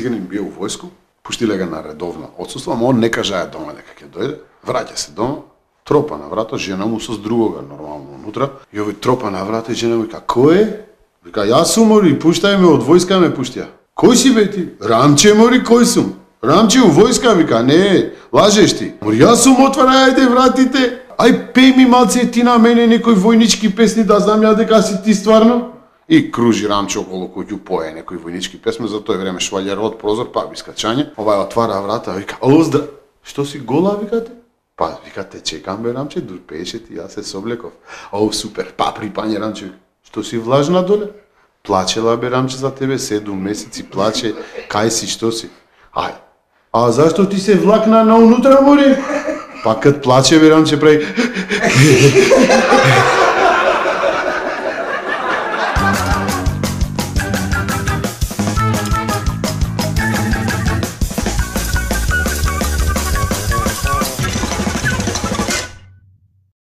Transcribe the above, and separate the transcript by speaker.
Speaker 1: Циганин бил во војско, пуштиле го на редовно отсуство, ама он не кажаја дома дека ќе дојде, враќа се дома, тропа на врата, жена му со другога нормално унутра, и овој тропа на врата и жена му вика: "Кој е?" Вика: "Јас сум, мори, пуштај ме, од војска ме пуштија." "Кој си бе ти?" "Рамче, мори, кој сум?" "Рамче у војска," вика. "Не, лажеш ти." "Мори, јас сум, отварај ајде вратите. Ај пеј ми малце ти на мене некои војнички песни да знам ја дека си ти стварно." И кружи Рамче околу куќу, пое некои војнички песми, за тој време швалјар од прозор, пак искачање. Овај отвара врата, вика: "Ало, што си гола, викате?" "Па, викате, чекам бе, Рамче, дур пееше ти, јас се соблеков." "О, супер, па припање, Рамче." "Што си влажна доле?" "Плачела бе, Рамче, за тебе 7 месеци плаче, кај си, што си?" "Ај, а зашто ти се влакна на унутра, мори?" "Па кад плаче бе, Рамче, прави."